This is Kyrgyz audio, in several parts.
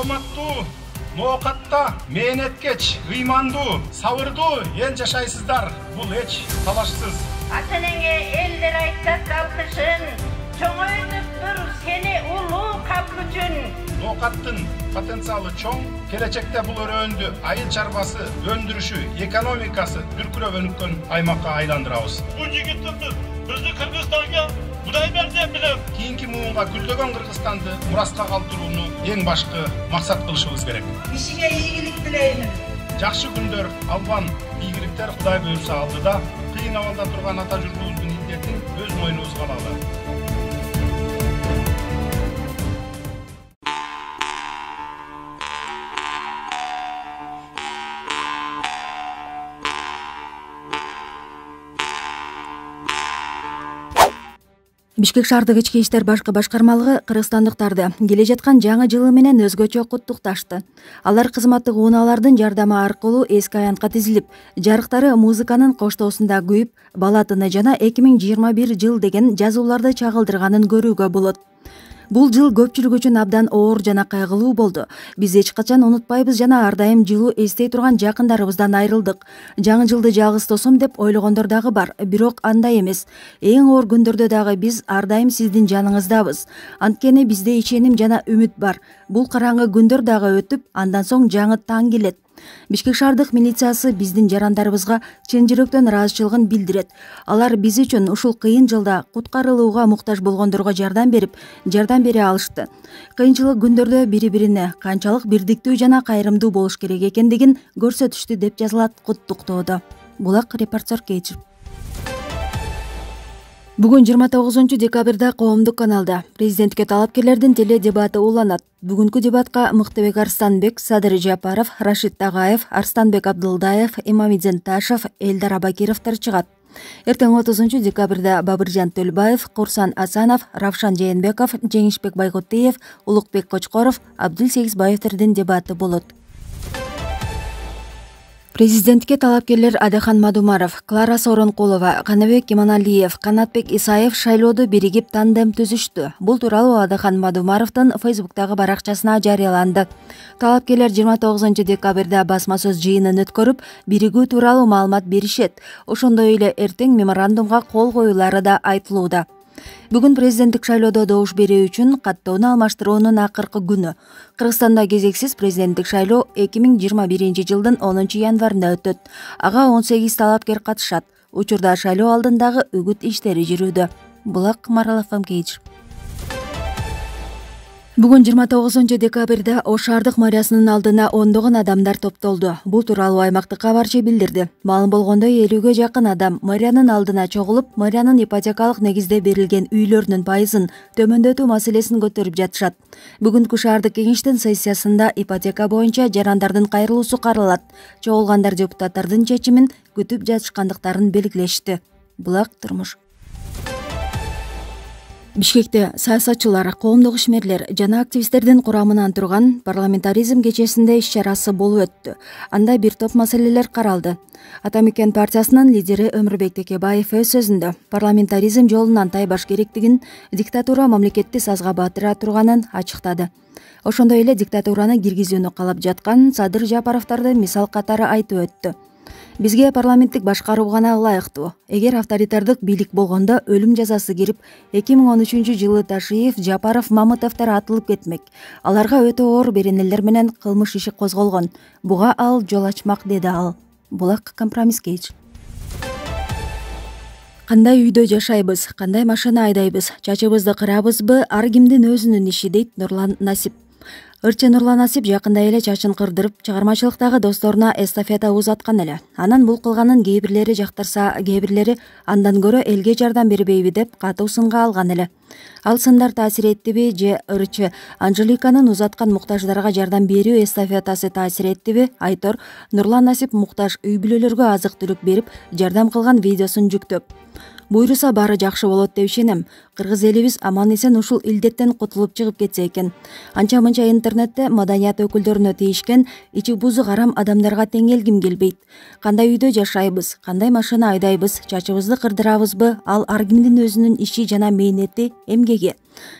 саламаттуу, ноокатта, мээнеткеч, ыймандуу, сабырдуу эл жашайсыздар. Бул эч талашсыз. Ата-энеңе элдер айтат алкышын, чоңойтуп тур сени улуу калк үчүн. Ноокаттын потенциалы чоң, келечекте бул өрөөндү айыл чарбасы өндүрүшү, экономикасы дүркүрөбөнүккөн аймакка айландырабыз. Бул жигиттерди биздин Кыргызстанга Кудай берди деп билем. Кийинки муунга гүлдөгөн Кыргызстанды мураска калтырууну эң башкы максат кылышыбыз керек. Ишиңе ийгилик тилеймин. Жакшы күндөр албан, ийгиликтер Кудай буйрса алдыда, кыйын абалда турган ата журтубуздун индетин өз мойнубузга алалы. Бишкек шаардык ички иштер башкы башкармалыгы кыргызстандыктарды келе жаткан жаңы жылы менен өзгөчө куттукташты. Алар кызматтык унаалардын жардамы аркылуу эски аянтка тизилип, жарыктары музыканын коштоосунда күйүп, бала тыны жана 2021 жыл деген жазууларды чагылдырганын көрүүгө болот. Бул жыл көпчүлүк үчүн абдан оор жана кайгылуу болду. Биз эч качан унутпайбыз жана ар дайым жылуу эстей турган жакындарыбыздан айрылдык. Жаңы жылды жалгыз тосом деп ойлогондор дагы бар, бирок андай эмес. Эң оор күндөрдө дагы биз ар дайым сиздин жаныңыздабыз. Анткени бизде ишеним жана үмүт бар. Бул караңгы күндөр дагы өтүп, андан соң жаңы таң келет. Бишкек шаардык милициясы биздин жарандарыбызга чын жүрөктөн ыраазычылыгын билдирет. Алар биз үчүн ушул кыйын жылда куткарылууга муктаж болгондорго жардам бере алышты. Кыйынчылык күндөрдө бири-бирине канчалык бирдиктүү жана кайрымдуу болуш керек экендигин көрсөтүштү деп жазылат куттуктоодо. Булак репортер Кейчир. Бүгүн 29 декабрда коомдук каналда президентке талапкерлердин теле дебаты уланат. Бүгүнкү дебатка Мыктыбек Арстанбек, Садыр Жапаров, Рашид Тагаев, Арстанбек Абдылдаев, Имамидин Ташев, Элдар Абакировдор чыгат. Эртең 30 декабрда Бабыржан Төлбаев, Курсан Асанов, Равшан Жээнбеков, Жеңишбек Байготиев, Улукбек Кочкоров, Абдул Сегизбаевдин дебаты болот. Президентке талапкерлер Адахан Мадумаров, Клара Сооронкулова, Канабек Иманалиев, Канатбек Исаев шайлоодо биригип тандем түзүштү. Бул тууралуу Адахан Мадумаровдун Фейсбуктагы баракчасына жарыяланды. Талапкерлер 29 декабрда басма сөз жыйынын өткөрүп, биригүү тууралуу маалымат беришет. Ошондой эле эртең меморандумга кол коюлары да айтылууда. Бүгүн президенттик шайлоодо добуш берүү үчүн каттоону алмаштыруунун акыркы күнү. Кыргызстанда кезексиз президенттик шайлоо 2021 жылдын 10 январында өтөт. Ага 18 талапкер катышат. Учурда шайлоо алдындагы үгүт иштери жүрүүдө. Булак Маралов Кейчир. Бүгүн 29 декабрда Ош шаардык мэриясынын алдына ондогон адамдар топтолду. Бул тууралуу аймактык кабарчы билдирди. Маалым болгондой 50ге жакын адам мэриянын алдына чогулуп, мэриянын ипотекалык негизде берилген үйлөрүнүн пайызын төмөндөтүү маселесин көтөрүп жатышат. Бүгүнкү шаардык кеңештин сессиясында ипотека боюнча жарандардын кайрылуусу каралат. Чогулгандар депутаттардын чечимин күтүп жатышкандыктарын белгилешти. Булак турмуш. Бишкекте саясатчылар, коомдук ишмерлер жана активисттердин курамынан турган парламентаризм кечесинде иш-чарасы болуп өттү. Анда бир топ маселелер каралды. Ата мекен партиясынын лидери Өмүрбек Текебаев өз сөзүндө парламентаризм жолунан тайбаш керектигин, диктатура мамлекетти сазга батыра турганын ачыктады. Ошондой эле диктатураны киргизүүнү каалап жаткан Садыр Жапаровдорду мисал катары айтып өттү. Бизге парламенттик башкаруу гана ылайыктуу. Эгер авторитардык бийлик болгондо өлүм жазасы кирип, 2013 жылы Ташиев, Жапаров, Мамытовдор атылып кетмек. Аларга өтө оор беренелер менен кылмыш иши козголгон. Буга ал жол ачмак, деди ал. Булак компромисс Кейч. Кандай үйдө жашайбыз, кандай машина айдайбыз, чачыбызды кырабызбы, ар кимдин өзүнүн иши, дейт Нурлан Насип. Ырчы Нурлан Насип жакында эле чачын кырдырып, чыгармачылыктагы досторуна эстафета узаткан эле. Анан бул кылганын кээ бирлери жактырса, кээ бирлери андан көрө элге жардам бербейби деп катуу сынга алган эле. Ал сындар таасир эттиби же ырчы Анжеликанын узаткан муктаждарга жардам берүү эстафетасы таасир эттиби? Айтор Нурлан Насип муктаж үй бүлөлөргө азык-түлүк берип, жардам кылган видеосун жүктөп, Буйруса баары жакшы болот деп ишенем. Кыргыз элибиз аман эсен ушул илдеттен кутулуп чыгып кетсе экен. Анча мынча интернетте маданият өкүлдөрүнө тийишкен ичи бузу карам адамдарга теңелгим келбейт. Кандай үйдө жашайбыз, кандай машина айдайбыз, чачыбызды кырдырабызбы, ал ар кимдин өзүнүн иши жана мээнети, эмгеги.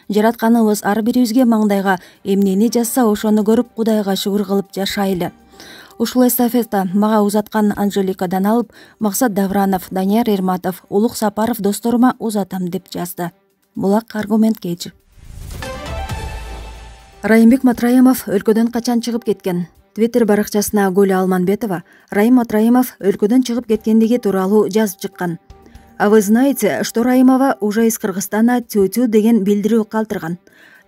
Жаратканыбыз ар бирибизге маңдайга эмнени жазса ошону көрүп Кудайга шүгүр кылып жашайлы. Ушул эстафета мага узаткан Анжеликадан алып, Максат Давранов, Данияр Эрматов, Улук Сапаров досторума узатам деп жазды. Булак аргумент кечи. Райымбек Матраимов өлкөдөн качан чыгып кеткен? Твиттер баракчасына Гуля Алманбетова Раим Матраимов өлкөдөн чыгып кеткендиги тууралуу жазып чыккан. А вы знаете, что Раимова уже из Кыргызстана тю-тю деген билдирүү калтырган.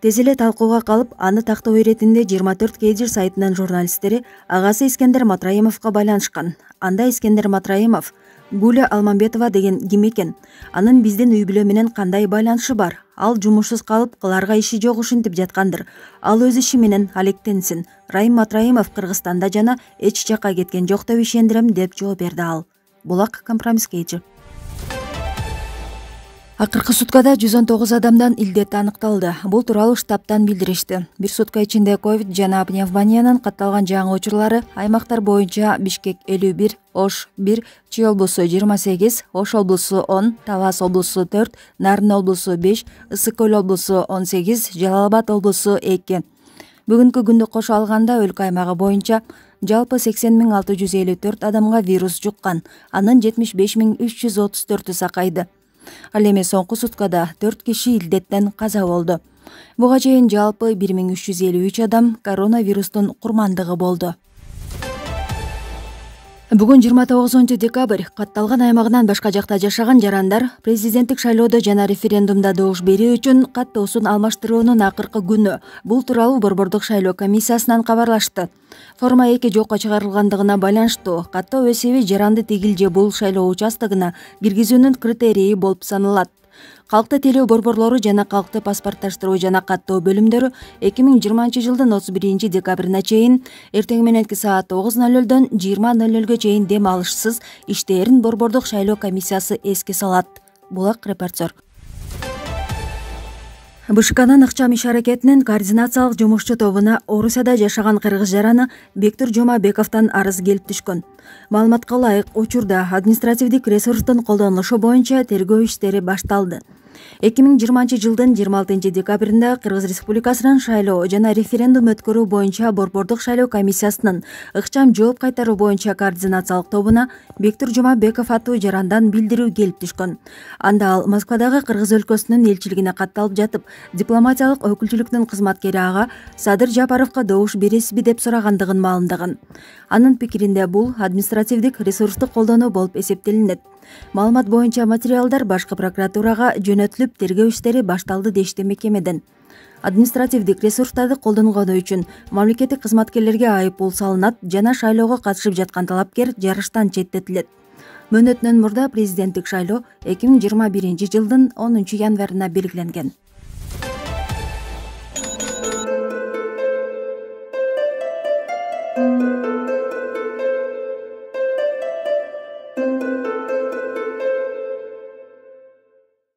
Тез эле талкууга калып, аны тактоо иретинде 24 Кедир сайтынын журналисттери агасы Искендер Матраимовго байланышкан. Анда Искендер Матраимов Гуля Алманбетова деген ким экен? Анын биздин үй бүлө менен кандай байланышы бар? Ал жумушсуз калып, кыларга иши жок ушинтип жаткандыр. Ал өз иши менен алектенсин. Раим Матраимов Кыргызстанда жана эч жакка кеткен жок деп ишендирем деп жооп берди ал. Булак компромисске ичи. Акыркы суткада 119 адамдан илдет аныкталды. Бул тууралуу штабтан билдиришти. Бир сутка ичинде ковид жана пневмониянын катталган жаңы учурлары аймактар боюнча Бишкек 51, Ош 1, Чүй облусу 28, Ош облусу 10, Талас облусу 4, Нарын облусу 5, Ысык көл облусу 18, Жалал Абад облусу 2. Бүгүнкү күндү кошо алганда өлкө аймагы боюнча жалпы 80.654 адамга вирус жуккан. Анын 75.334 сакайды. Ал эми соңку суткада 4 киши илдеттен каза болду. Буга чейин жалпы 1353 адам коронавирустун курмандыгы болду. Бүгүн 29 декабрь катталган аймагынан башка жакта жашаган жарандар президенттик шайлоодо жана референдумда добуш берүү үчүн каттоосун алмаштыруунун акыркы күнү. Бул тууралуу Борбордук шайлоо комиссиясынан кабарлашты. Форма 2 жокко чыгарылгандыгына байланыштуу каттоо эсеби жаранды тигил же бул шайлоо участогуна киргизүүнүн критерийи болуп саналат. Калкты тейлөө борборлору жана калкты паспортташтыруу жана каттоо бөлүмдөрү 2020 жылдын 31 декабрына чейин эртең мененки саат 9:00дөн 20:00га чейин дем алышсыз иштээрин Борбордук шайлоо комиссиясы эске салат. Булак репортер. БШКнын ыкчам иш-аракетинин координациялык жумушчу тобуна Орусияда жашаган кыргыз жараны Бектур Жомабековдон арыз келип түшкөн. Маалыматка ылайык, учурда административдик ресурстун колдонулушу боюнча тергөө иштери башталды. 2020 жылдын 26 декабрында Кыргыз Республикасынын шайлоо жана референдум өткөрүү боюнча Борбордук шайлоо комиссиясынын ыкчам жооп кайтаруу боюнча координациялык тобуна Бектур Жомабеков аттуу жарандан билдирүү келип түшкөн. Анда ал Москвадагы Кыргыз өлкөсүнүн элчилигине катталып жатып, дипломатиялык өкүлчүлүктүн кызматкери ага Садыр Жапаровго добуш бересизби деп сурагандыгын маалымдаган. Анын пикиринде бул административдик ресурсту колдонуу болуп эсептелинет. Маалымат боюнча материалдар башкы прокуратурага жөнөтүлүп, тергөө иштери башталды дешти мекемеден. Административдик ресурстарды колдонгону үчүн мамлекеттик кызматкерлерге айыппул салынат жана шайлоого катышып жаткан талапкер жарыштан четтетилет. Мөөнөтүнөн мурда президенттик шайлоо 2021 жылдын 10 январына белгиленген.